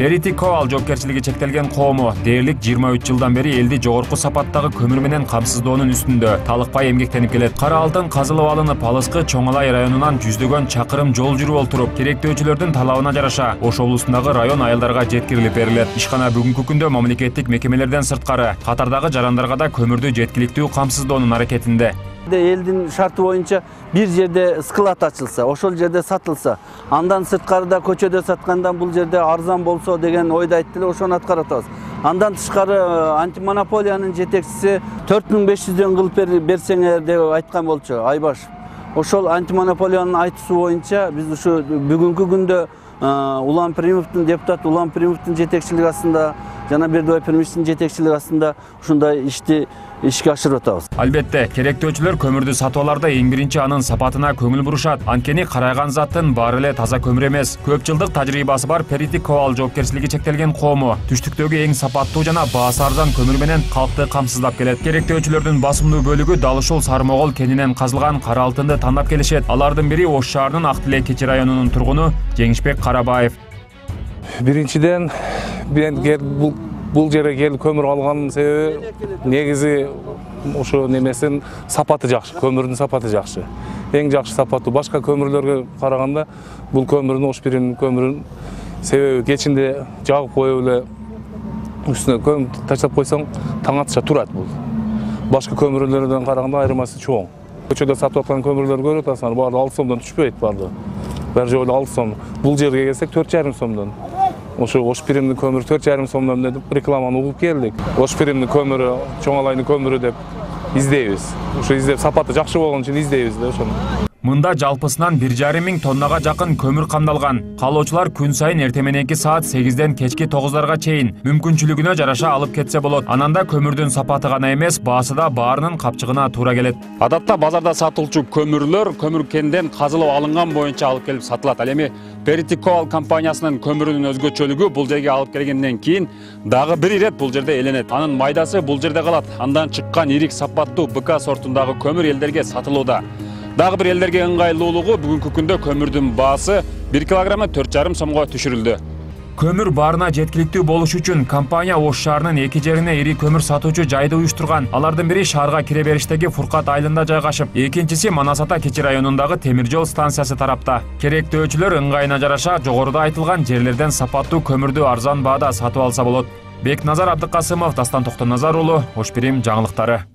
Periti Coal жоопкерчилиги чектелген коому дээрлик 23 жылдан бери элди жогорку сапаттагы көмүр менен камсыздоонун үстүндө талыкпай эмгектенип келет. Кара алтын казылып алынып, алыскы Чоң Алай районунан жүздөгөн чакырым жол жүрүп олтуруп, керектөөчүлөрдүн талабына жараша Ош облусундагы район айылдарга жеткирилип берилет. Ишкана бүгүнкү күндө мамлекеттик мекемелерден сырткары катардагы жарандарга да көмүрдү жеткиликтүү камсыздоонун аракетинде. Элдин шарты боюнча бир жерде склад ачылса, ошол жерде сатылса, андан сырткарыда көчөдө саткандан бул жерде арзан болсо деген ойду айтты эле, ошону аткарып атабыз. Андан тышкары антимонополиянын жетекчиси 4500дөн кылып берсеңер деп айткан болчу Айбаш. Ошол антимонополиянын айтуусу боюнча биз ушу бүгүнкү күндө Улан Пиримовдун депутат Улан Пиримовдун жетекчилиги астында жана Бердибай Пирмичтин жетекчилиги астында ушундай ишти ишке ашырып атабыз. Албетте, керектөөчүлөр көмүрдү сатып аларда эң биринчи анын сапатына көңүл бурушат. Анткени карайган заттын баары эле таза көмүр эмес. Көп жылдык тажрыйбасы бар Periti Coal жоопкерчилиги чектелген коому түштүктөгү эң сапаттуу жана баасы арзан көмүр менен калкты камсыздап келет. Керектөөчүлөрдүн басымдуу бөлүгү дал ушул Сармогол кенинен казылган кара алтынды тандап келишет. Алардын бири Ош шаарынын Ак Тилек Кечи районунун тургуну Жеңишбек Карабаев. Биринчиден бул жерге келип көмүр алганын себеби негизи ошо немесин сапаты жакшы, көмүрдүн сапаты жакшы. Эң жакшы сапаттуу башка көмүрлөргө караганда бул көмүрдүн Ош Пирим көмүрүнүн себеби кечинде жагып коюп эле үстүнө көмүр таштап койсоң таң атыша турат бул. Башка көмүрлөрдөн караганда айырмасы чоң. Көчөдө сатып аткан көмүрлөрдү көрүп атасыңар, баары 6 сомдон түшпөйт баары. Бир жолу 6 сом. Бул жерге келсек 4,5 сомдон. Ошо Ош Пиримдин көмүрү 4,5 сомдон деп рекламаны угуп келдик. Ош Пиримдин көмүрү, Чоң Алайдын көмүрү деп издейбиз. Ошо издеп сапаты жакшы болгон үчүн издейбиз да ошону. Мында жалпысынан 1,5 миң тоннага жакын көмүр камдалган. Каалоочулар күн сайын эртең мененки саат 8ден кечки 9дарга чейин мүмкүнчүлүгүнө жараша алып кетсе болот. Ананда көмүрдүн сапаты гана эмес, баасы да баарынын капчыгына туура келет. Адатта базарда сатылчу көмүрлөр көмүр кенден казылып алынган боюнча алып келип сатылат. Ал эми Periti Coal компаниясынын көмүрүнүн өзгөчөлүгү бул жерге алып келгенден кийин дагы бир ирет бул жерде эленет. Анын майдасы бул жерде калат. Андан чыккан ирик сапаттуу БК сортундагы көмүр элдерге сатылууда. Дагы бир элдерге ыңгайлуулугу бүгүнкү күндө көмүрдүн баасы 1 килограммы 4,5 сомго түшүрүлдү. Көмүр баарына жеткиликтүү болуш үчүн компания Ош шаарынын 2 жерине ири көмүр сатуучу жайды уюштурган. Алардын бири шаарга кире бериштеги Фуркат айылында жайгашып, экинчиси Манас Ата Кечи районундагы темир жол станциясы тарапта. Керектөөчүлөр ыңгайына жараша жогоруда айтылган жерлерден сапаттуу көмүрдү арзан баада сатып алса болот. Бекназар Абдыкасымов, Дастан Токтоназар уулу, Ош Пирим жаңылыктары.